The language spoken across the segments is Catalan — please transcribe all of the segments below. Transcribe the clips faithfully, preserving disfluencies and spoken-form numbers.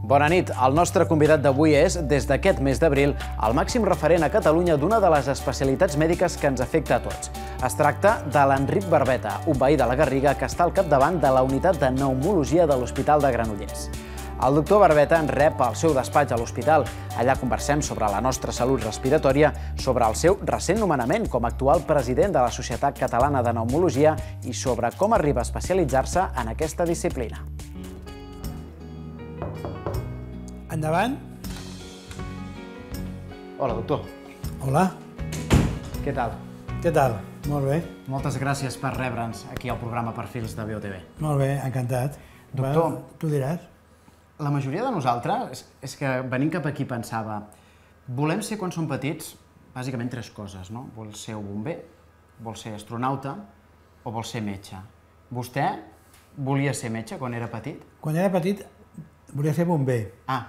Bona nit. El nostre convidat d'avui és, des d'aquest mes d'abril, el màxim referent a Catalunya d'una de les especialitats mèdiques que ens afecta a tots. Es tracta de l'Enric Barbeta, un veí de la Garriga que està al capdavant de la unitat de pneumologia de l'Hospital de Granollers. El doctor Barbeta ens rep al seu despatx a l'hospital. Allà conversem sobre la nostra salut respiratòria, sobre el seu recent nomenament com a actual president de la Societat Catalana de Pneumologia i sobre com arriba a especialitzar-se en aquesta disciplina. Endavant. Hola, doctor. Hola. Què tal? Què tal? Molt bé. Moltes gràcies per rebre'ns aquí al programa Perfils de B O T V. Molt bé, encantat. Doctor, tu diràs. La majoria de nosaltres, és que venint cap aquí pensava, volem ser quan som petits, bàsicament tres coses, no? Vol ser un bomber, vol ser astronauta o vol ser metge. Vostè volia ser metge quan era petit? Quan era petit volia ser bomber. Ah.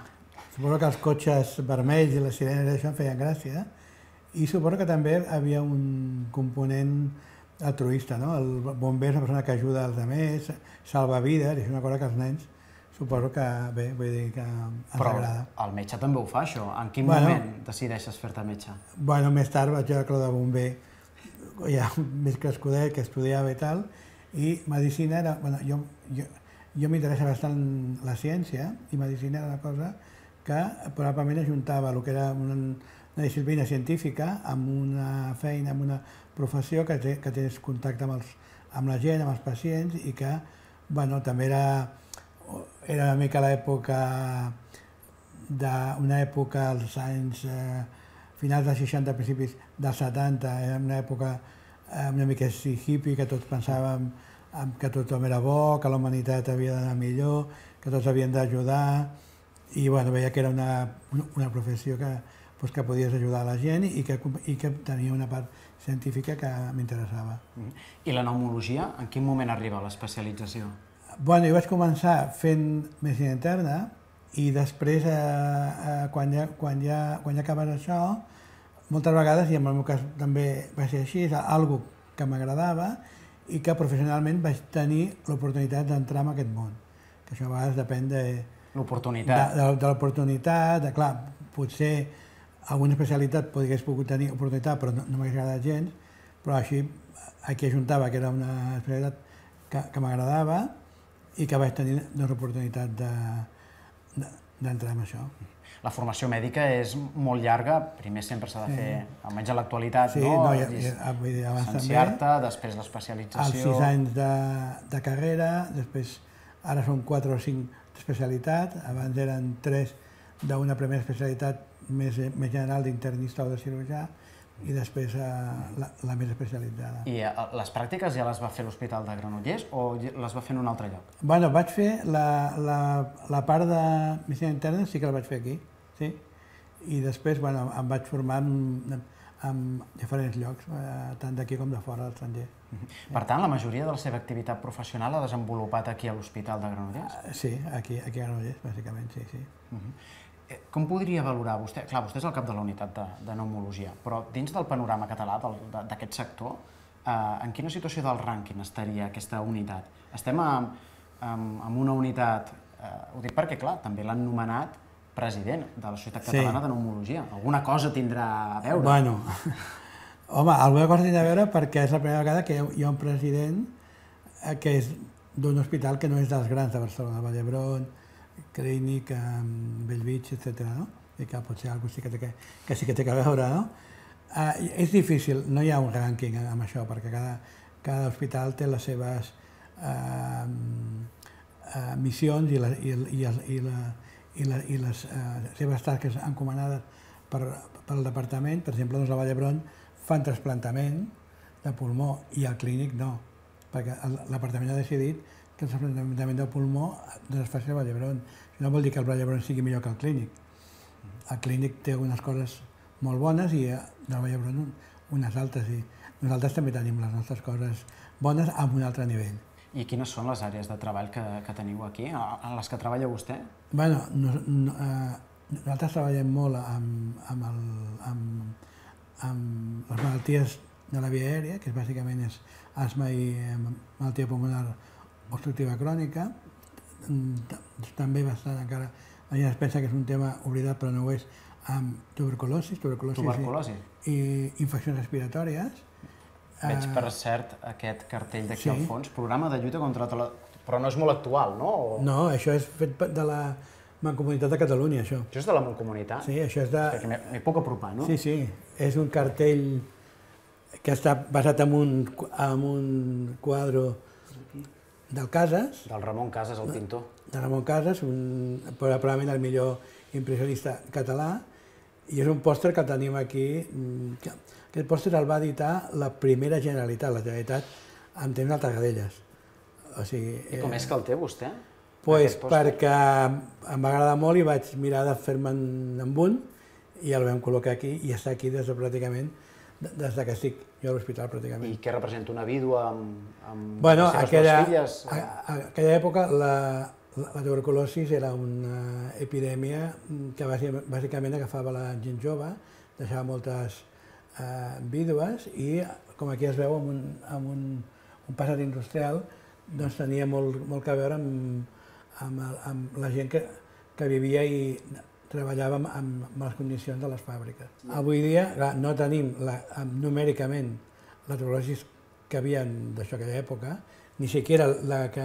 Suposo que els cotxes vermells i les sirenes d'això em feien gràcia. I suposo que també hi havia un component altruista, no? El bomber és una persona que ajuda als altres, salva vides, i és una cosa que els nens suposo que, bé, vull dir que ens agrada. Però el metge també ho fa, això. En quin moment decideixes fer-te metge? Bueno, més tard vaig veure que el de bomber ja més crescudet, que estudiava i tal, i medicina era... Bueno, jo, jo, jo m'interessa bastant la ciència, i medicina era una cosa que probablement ajuntava el que era una, una disciplina científica amb una feina, amb una professió que, té, que tens contacte amb, els, amb la gent, amb els pacients, i que, bueno, també era... Era una mica l'època, una època als anys eh, finals dels seixanta, principis dels setanta, era una època eh, una mica així hippie, que tots pensàvem que tothom era bo, que la humanitat havia d'anar millor, que tots havien d'ajudar, i bueno, veia que era una, una professió que, pues, que podies ajudar a la gent i que, i que tenia una part científica que m'interessava. I la pneumologia, en quin moment arriba a l'especialització? Bueno, jo vaig començar fent medicina interna i després, eh, eh, quan, ja, quan, ja, quan ja acabes això, moltes vegades, i en el meu cas també va ser així, és algo que m'agradava i que professionalment vaig tenir l'oportunitat d'entrar en aquest món. Que això a vegades depèn de... L'oportunitat. De, de, de l'oportunitat, de, clar, potser alguna especialitat podries pogut tenir oportunitat, però no, no m'hagués agradat gens, però així aquí ajuntava que era una especialitat que, que m'agradava i que vaig tenir l'oportunitat d'entrar en això. La formació mèdica és molt llarga, primer sempre s'ha de fer, almenys a l'actualitat, no? Sí, llicenciar-te, després l'especialització... Els sis anys de carrera, després ara són quatre o cinc d'especialitat, abans eren tres d'una primera especialitat més general d'internista o de cirurgià, i després la més especialitzada. I les pràctiques ja les va fer a l'Hospital de Granollers o les va fer en un altre lloc? Bueno, vaig fer la part de medicina interna, sí que la vaig fer aquí, sí. I després, bueno, em vaig formar en diferents llocs, tant d'aquí com de fora, de l'estranger. Per tant, la majoria de la seva activitat professional l'ha desenvolupat aquí a l'Hospital de Granollers? Sí, aquí a Granollers, bàsicament, sí, sí. Com podria valorar vostè? Clar, vostè és el cap de la unitat de pneumologia, però dins del panorama català d'aquest sector, en quina situació del rànquing estaria aquesta unitat? Estem en una unitat, ho dic perquè, clar, també l'han nomenat president de la Societat Catalana de Pneumologia. Alguna cosa tindrà a veure? Bueno, home, alguna cosa tindrà a veure perquè és la primera vegada que hi ha un president que és d'un hospital que no és dels grans de Barcelona, Vall d'Hebron, Clínic, Bellvitge, etcètera, no? I que potser alguna cosa que sí que té a veure, no? És difícil, no hi ha un rànquing amb això, perquè cada hospital té les seves missions i les seves tasques encomanades pel departament. Per exemple, a Vall d'Hebron fan trasplantament de pulmó i al Clínic no, perquè l'apartament ha decidit que el trasplantament del pulmó es faci al Vall d'Hebron. Això no vol dir que el Vall d'Hebron sigui millor que el Clínic. El Clínic té unes coses molt bones i el Vall d'Hebron unes altres. I nosaltres també tenim les nostres coses bones a un altre nivell. I quines són les àrees de treball que teniu aquí, en les que treballa vostè? Bé, nosaltres treballem molt amb les malalties de la via aèria, que bàsicament és asma i malaltia pulmonar obstructiva crònica, també bastant encara la gent es pensa que és un tema oblidat, però no ho és, amb tuberculosi, tuberculosi i infeccions respiratòries. Veig, per cert, aquest cartell d'aquí al fons, programa de lluita contra la... Però no és molt actual, no? No, això és fet de la Mancomunitat de Catalunya, això. Això és de la Mancomunitat? Sí, això és de... Perquè m'hi puc apropar, no? Sí, sí, és un cartell que està basat en un, en un quadre del Casas. Del Ramon Casas, el pintor. De Ramon Casas, un, probablement el millor impressionista català, i és un pòster que tenim aquí. Que, aquest pòster el va editar la primera Generalitat, la Generalitat en temps d'Alta Gadelles. O sigui, I com és que el té, vostè? Pues perquè em va agradar molt i vaig mirar de fer-me'n amb un i el vam col·locar aquí i està aquí des de pràcticament, des que estic jo a l'hospital pràcticament. I què representa, una vídua amb, amb bueno, les seves aquella, dues filles? A, a aquella època la, la tuberculosi era una epidèmia que bàsicament agafava la gent jove, deixava moltes eh, vídues i, com aquí es veu, amb un, amb un, un passat industrial, doncs tenia molt, molt a veure amb, amb, amb la gent que, que vivia i treballava amb, amb les condicions de les fàbriques. Avui dia clar, no tenim la, numèricament la tuberculosi que havia d'això aquella època, ni siquiera la que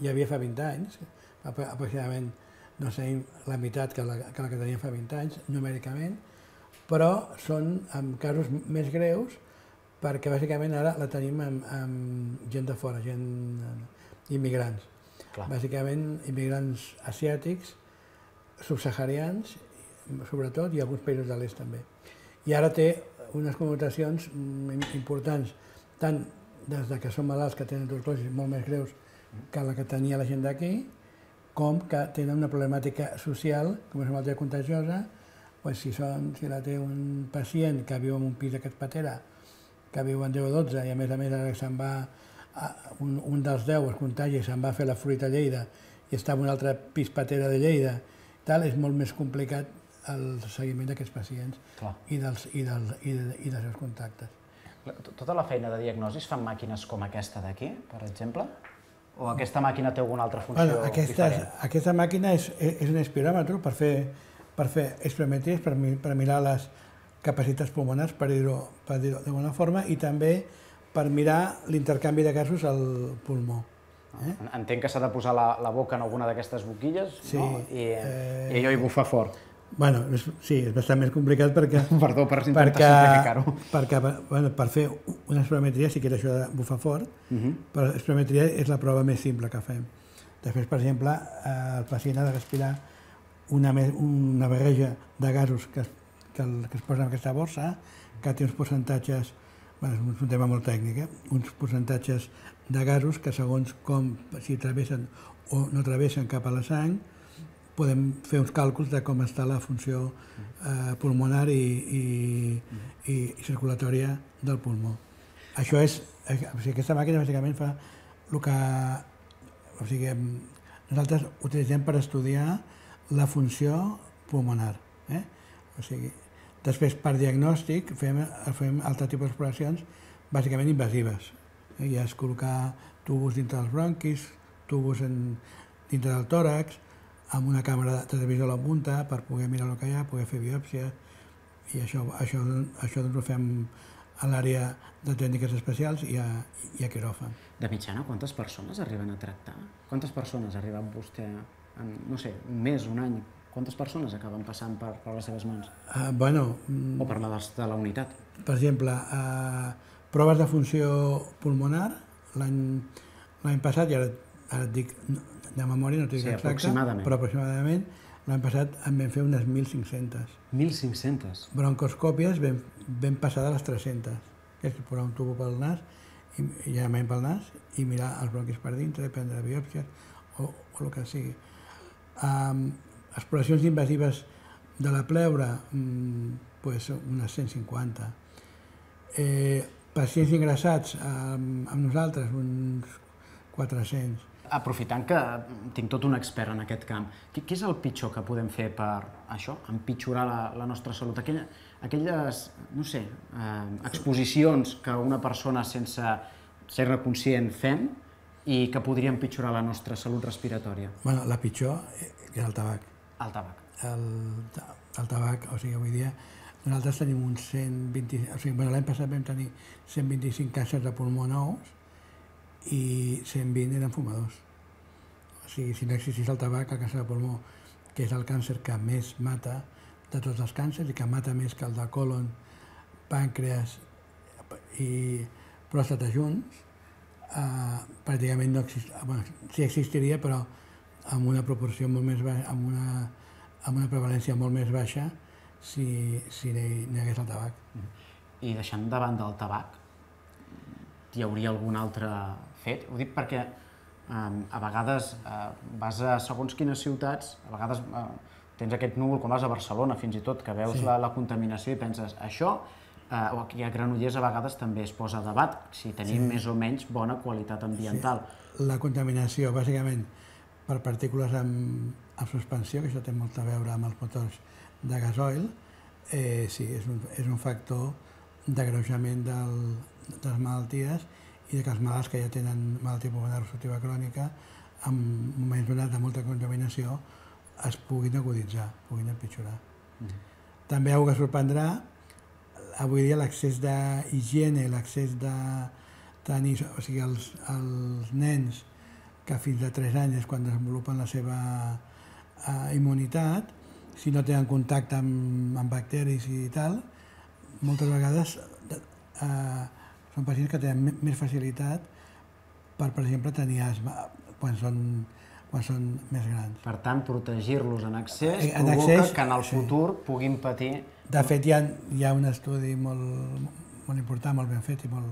hi havia fa vint anys, aproximadament no tenim la meitat que la que, la que teníem fa vint anys, numèricament, però són en casos més greus perquè bàsicament ara la tenim amb, amb gent de fora, gent immigrants. Clar. Bàsicament immigrants asiàtics, subsaharians, sobretot, i alguns països de l'est també. I ara té unes connotacions importants, tant des que són malalts que tenen tuberculosi molt més greus que la que tenia la gent d'aquí, com que tenen una problemàtica social, com és una malaltia contagiosa, doncs si, són, si la té un pacient que viu en un pis d'aquest patera, que viu en deu o dotze i a més a més ara se'n va, un, un dels deu es contagi i se'n va fer la fruita a Lleida i està en un altre pis patera de Lleida, tal, és molt més complicat el seguiment d'aquests pacients i dels, i, dels, i, de, i dels seus contactes. Tota la feina de diagnosi es fan màquines com aquesta d'aquí, per exemple? O aquesta màquina té alguna altra funció bueno, aquesta, diferent? Aquesta màquina és, és un espiròmetre per fer, per fer espirometries, per, per mirar les capacitats pulmonars, per dir-ho dir d'alguna forma, i també per mirar l'intercanvi de gasos al pulmó. Eh? Entenc que s'ha de posar la, la boca en alguna d'aquestes boquilles, sí, no? I, eh... i allò hi bufa fort. Bueno, és, sí, és bastant més complicat perquè... Perdó per intentar simplificar-ho. Perquè, bueno, per fer una espirometria sí que és això de bufar fort, uh -huh. però l'espirometria és la prova més simple que fem. Després, per exemple, el pacient ha de respirar una, una barreja de gasos que es que, el, que es posa en aquesta borsa, que té uns percentatges, bueno, és un tema molt tècnic, eh? uns percentatges de gasos que segons com, si travessen o no travessen cap a la sang, podem fer uns càlculs de com està la funció eh, pulmonar i, i, i, i circulatòria del pulmó. Això és, o sigui, aquesta màquina bàsicament fa el que, o sigui, nosaltres utilitzem per estudiar la funció pulmonar. Eh? O sigui, després, per diagnòstic, fem, fem altre tipus d'exploracions bàsicament invasives. Ja és col·locar tubos dintre dels bronquis, tubos en, dintre del tòrax, amb una càmera de televisió a la punta per poder mirar el que hi ha, poder fer biòpsia, i això, això, això doncs ho fem a l'àrea de tècniques especials i a, i a quiròfan. De mitjana, quantes persones arriben a tractar? Quantes persones ha arribat vostè en, no sé, un mes, un any? Quantes persones acaben passant per, per les seves mans? Uh, bueno... O per la de, de la unitat? Per exemple, uh, proves de funció pulmonar, l'any passat, i ara, ara et dic de memòria, no t'ho dic sí, exacte, aproximadament. però aproximadament l'any passat en vam fer unes mil cinc-centes. mil cinc-centes? Broncoscòpies vam, vam passar de les tres-centes, que és posar un tubo pel nas, i, i llargament pel nas, i mirar els bronquis per dintre, prendre biòpsies, o, o el que sigui. Um, exploracions invasives de la pleura, mmm, pues unes cent cinquanta. Eh, pacients ingressats amb, amb nosaltres, uns quatre-cents. Aprofitant que tinc tot un expert en aquest camp, què, què és el pitjor que podem fer per això, empitjorar la, la nostra salut? Aquella, aquelles, no sé, eh, exposicions que una persona sense ser-ne conscient fem i que podria empitjorar la nostra salut respiratòria? Bueno, la pitjor és el tabac. El tabac. El, el tabac, o sigui, avui dia nosaltres tenim uns cent vint... O sigui, bueno, l'any passat vam tenir cent vint-i-cinc càncers de pulmó nous i cent vint eren fumadors. O sigui, si no existís el tabac, el càncer de pulmó, que és el càncer que més mata de tots els càncers i que mata més que el de colon, pàncreas i pròstata junts, eh, pràcticament no existiria, bueno, sí existiria, però amb una proporció molt més baixa, amb una, amb una prevalència molt més baixa si, si n'hi hagués el tabac. I deixant de banda el tabac, hi hauria algun altre fet? Ho dic perquè eh, a vegades eh, vas a segons quines ciutats, a vegades eh, tens aquest núvol, com vas a Barcelona fins i tot, que veus sí. la, la contaminació i penses això, eh, o aquí a Granollers a vegades també es posa a debat si tenim sí. més o menys bona qualitat ambiental. Sí. La contaminació, bàsicament, per partícules amb, amb suspensió, que això té molt a veure amb els motors de gasoil, eh, sí, és un, és un factor d'agreujament del, de les malalties i de que els malalts que ja tenen malaltia pulmonar obstructiva crònica, en moments donats de molta contaminació, es puguin aguditzar, puguin empitjorar. Mm. També algo que sorprendrà, avui dia l'accés d'higiene, l'accés de tenir, o sigui, els, els nens que fins a tres anys és quan desenvolupen la seva eh, immunitat, si no tenen contacte amb, amb bacteris i tal, moltes vegades eh, són pacients que tenen més facilitat per, per exemple, tenir asma quan són, quan són més grans. Per tant, protegir-los en excés en provoca accés, que en el futur sí. puguin patir... De fet, hi ha, hi ha un estudi molt, molt important, molt ben fet i molt,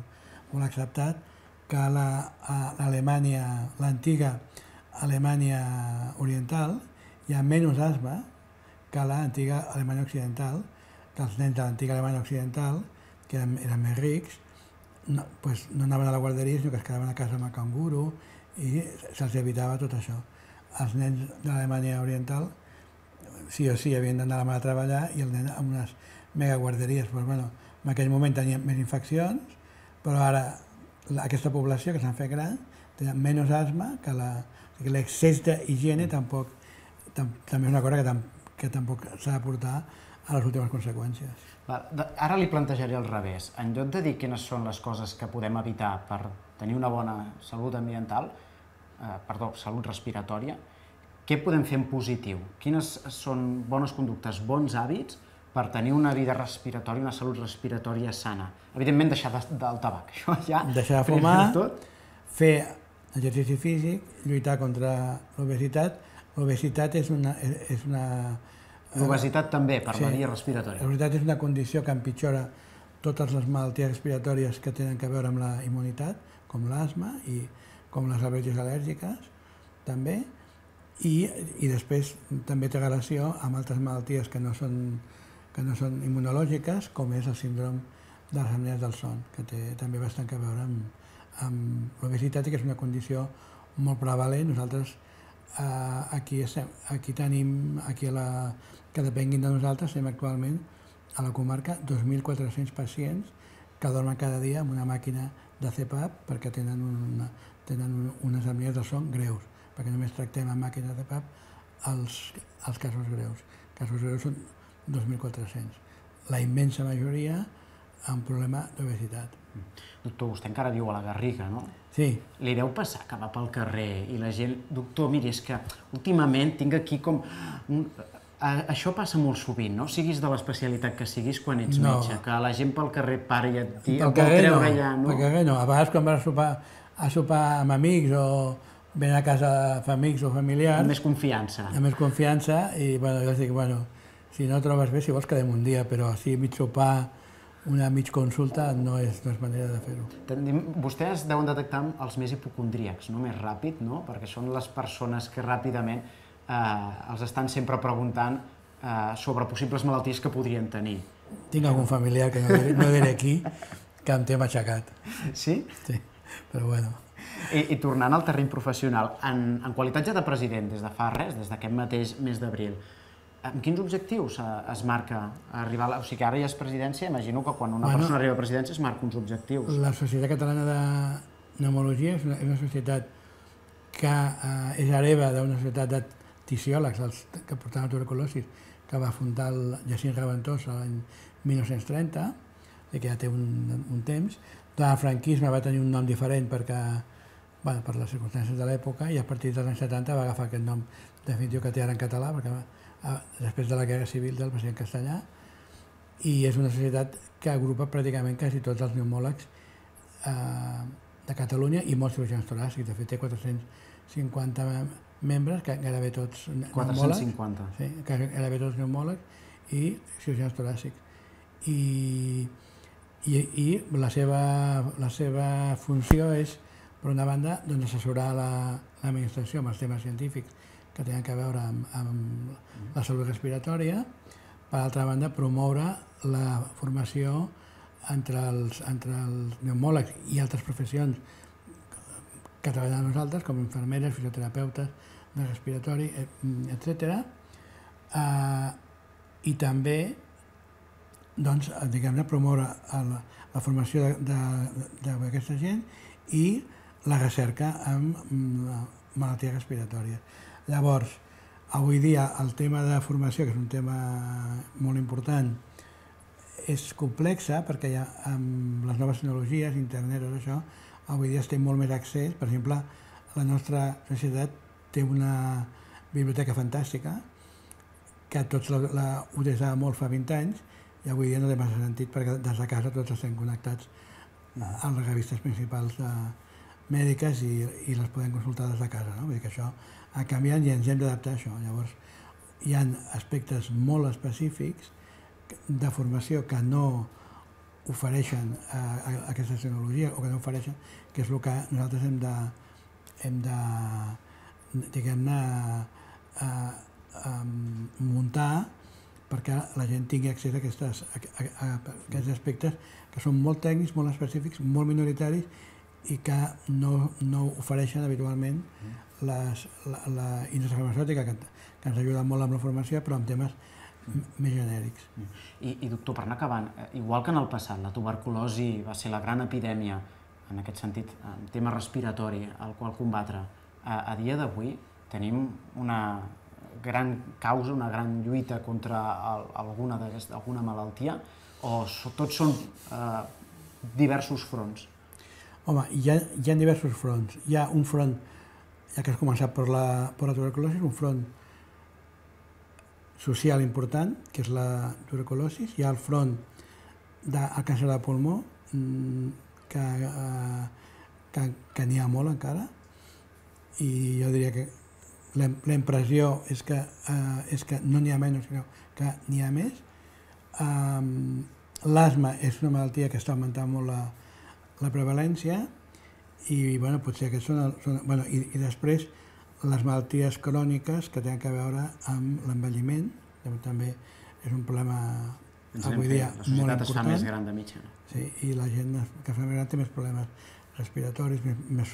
molt acceptat, que a l'Alemanya, l'antiga Alemanya Oriental, hi ha menys asma que a l'antiga Alemanya Occidental, que els nens de l'antiga Alemanya Occidental, que eren, eren més rics, no, pues, no anaven a la guarderia, sinó que es quedaven a casa amb el canguro i se'ls evitava tot això. Els nens de l'Alemanya Oriental sí o sí havien d'anar a la mà a treballar i el nen amb unes megaguarderies. Pues, bueno, en aquell moment tenien més infeccions, però ara aquesta població que s'han fet gran tenen menys asma que la... L'excés d'higiene tampoc, tam, també és una cosa que, tam, que tampoc s'ha de portar a les últimes conseqüències. Ara li plantejaré al revés. En lloc de dir quines són les coses que podem evitar per tenir una bona salut ambiental, eh, perdó, salut respiratòria, què podem fer en positiu? Quines són bones conductes, bons hàbits per tenir una vida respiratòria, una salut respiratòria sana? Evidentment, deixar de, del tabac. Això ja... Deixar de fumar, fer exercici físic, lluitar contra l'obesitat. L'obesitat és una... És una L'obesitat també, per sí, la via respiratòria. L'obesitat és una condició que empitjora totes les malalties respiratòries que tenen a veure amb la immunitat, com l'asma i com les al·lèrgies al·lèrgiques, també. I, i després també té relació amb altres malalties que no són, que no són immunològiques, com és el síndrome de les apnees del son, que té també bastant a veure amb, amb l'obesitat i que és una condició molt prevalent. Nosaltres eh, aquí, estem, aquí tenim, aquí a la, que depenguin de nosaltres, estem actualment a la comarca dos mil quatre-cents pacients que dormen cada dia amb una màquina de C PAP perquè tenen, una, tenen unes apnees del son greus, perquè només tractem amb màquines de C PAP els, els casos greus. Els casos greus són dos mil quatre-cents. La immensa majoria amb problema d'obesitat. Doctor, vostè encara viu a la Garriga, no? Sí. Li deu passar que va pel carrer i la gent... Doctor, miri, és que últimament tinc aquí com... Un... Això passa molt sovint, no? Siguis de l'especialitat que siguis quan ets no. metge, que la gent pel carrer para i et diu... Pel carrer no, allà, no? Pel carrer no. A vegades quan vas a sopar, a sopar amb amics o ven a casa fa amics o familiars... Amb més confiança. Amb més confiança i, bueno, jo els dic, bueno, si no trobes bé, si vols quedem un dia, però si mig sopar, una mig consulta no és, no és manera de fer-ho. Vostès deuen detectar els més hipocondríacs, no? Més ràpid, no? Perquè són les persones que ràpidament eh, els estan sempre preguntant eh, sobre possibles malalties que podrien tenir. Tinc algun familiar que no diré, no diré aquí, que em té matxacat. Sí? Sí, però bueno. I, i tornant al terreny professional, en, en qualitat ja de president, des de fa res, des d'aquest mateix mes d'abril, amb quins objectius es marca arribar a la... O sigui, ara ja és presidència, imagino que quan una bueno, persona arriba a presidència es marca uns objectius. La Societat Catalana de Pneumologia és una, és una societat que eh, és hereva d'una societat de fisiòlegs que portaven tuberculosi que va fundar el Jacint Reventós l'any mil nou-cents trenta, que ja té un temps. Durant el franquisme va tenir un nom diferent perquè, per les circumstàncies de l'època, i a partir dels anys setanta va agafar aquest nom definitiu que té ara en català, perquè després de la Guerra Civil va ser en castellà, i és una societat que agrupa pràcticament quasi tots els pneumòlegs de Catalunya i molts cirurgians toràcics. De fet, té quatre-cents cinquanta membres, gairebé tots pneumòlegs. quatre-cents cinquanta. Sí, gairebé tots pneumòlegs i cirurgians toràcics. I la seva funció és, per una banda, assessorar l'administració amb els temes científics que tenen a veure amb la salut respiratòria. Per altra banda, promoure la formació entre els pneumòlegs i altres professions que treballen amb nosaltres, com infermeres, fisioterapeutes de respiratori, etcètera. I també promoure la formació d'aquesta gent i la recerca en malalties respiratòries. Llavors, avui dia el tema de formació, que és un tema molt important, és complexa perquè amb les noves tecnologies, internet, tot això, avui dia es té molt més accés. Per exemple, la nostra societat té una biblioteca fantàstica que tots la utilitzàvem molt fa vint anys i avui dia no té massa sentit perquè des de casa tots estem connectats a les revistes principals mèdiques i les podem consultar des de casa. Vull dir que això ha canviat i ens hem d'adaptar a això. Llavors, hi ha aspectes molt específics de formació que no ofereixen aquestes tecnologies o que no ofereixen, que és el que nosaltres hem de, hem de, diguem-ne, muntar perquè la gent tingui accés a aquests aspectes que són molt tècnics, molt específics, molt minoritaris i que no ofereixen habitualment la indústria farmacèutica, que ens ajuda molt amb la formació, però amb temes més genèrics. I, doctor, per anar acabant, igual que en el passat la tuberculosi va ser la gran epidèmia, en aquest sentit, en tema respiratori, al qual combatre, a dia d'avui tenim una gran causa, una gran lluita contra alguna malaltia, o tots són diversos fronts? Home, hi ha diversos fronts. Hi ha un front, ja que has començat per la tuberculosi, un front social important, que és la tuberculosi. Hi ha el front del càncer de pulmó, que n'hi ha molt encara, i jo diria que la impressió és que no n'hi ha menys, sinó que n'hi ha més. L'asma és una malaltia que està augmentant molt la prevalència i potser aquests són... I després les malalties cròniques que tenen a veure amb l'envelliment, també és un problema avui dia molt important. La societat es fa més gran de mitjana. Sí, i la gent que es fa més gran té més problemes respiratoris, més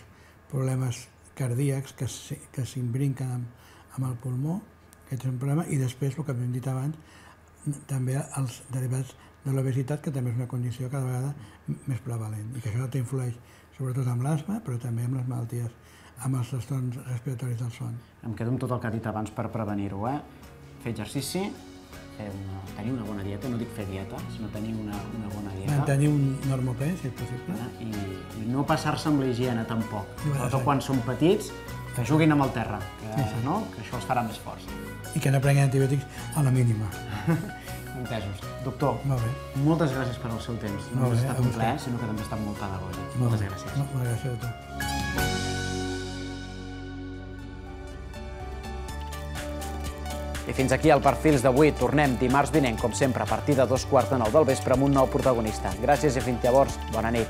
problemes cardíacs que s'imbrinquen amb el pulmó, aquest és un problema, i després, el que hem dit abans, també els derivats de l'obesitat, que també és una condició cada vegada més prevalent, i que això t'influeix sobretot amb l'asma, però també amb les malalties, amb els trastorns respiratoris del son. Em quedo amb tot el que has dit abans per prevenir-ho, eh? Fer exercici, tenir una bona dieta, no dic fer dieta, sinó tenir una bona dieta. Mantenir un normopè, si és possible. I no passar-se amb la higiene, tampoc. Sobretot quan són petits, que juguin amb el terra, que això els farà més forts. I que no prenguin antibiòtics a la mínima. Entesos. Doctor, moltes gràcies per al seu temps. No només ha estat un plaer, sinó que també ha estat molt pedagògic. Moltes gràcies. Moltes gràcies a tu. I fins aquí el Perfils d'avui. Tornem dimarts vinent, com sempre, a partir de dos quarts de nou del vespre amb un nou protagonista. Gràcies i fins llavors. Bona nit.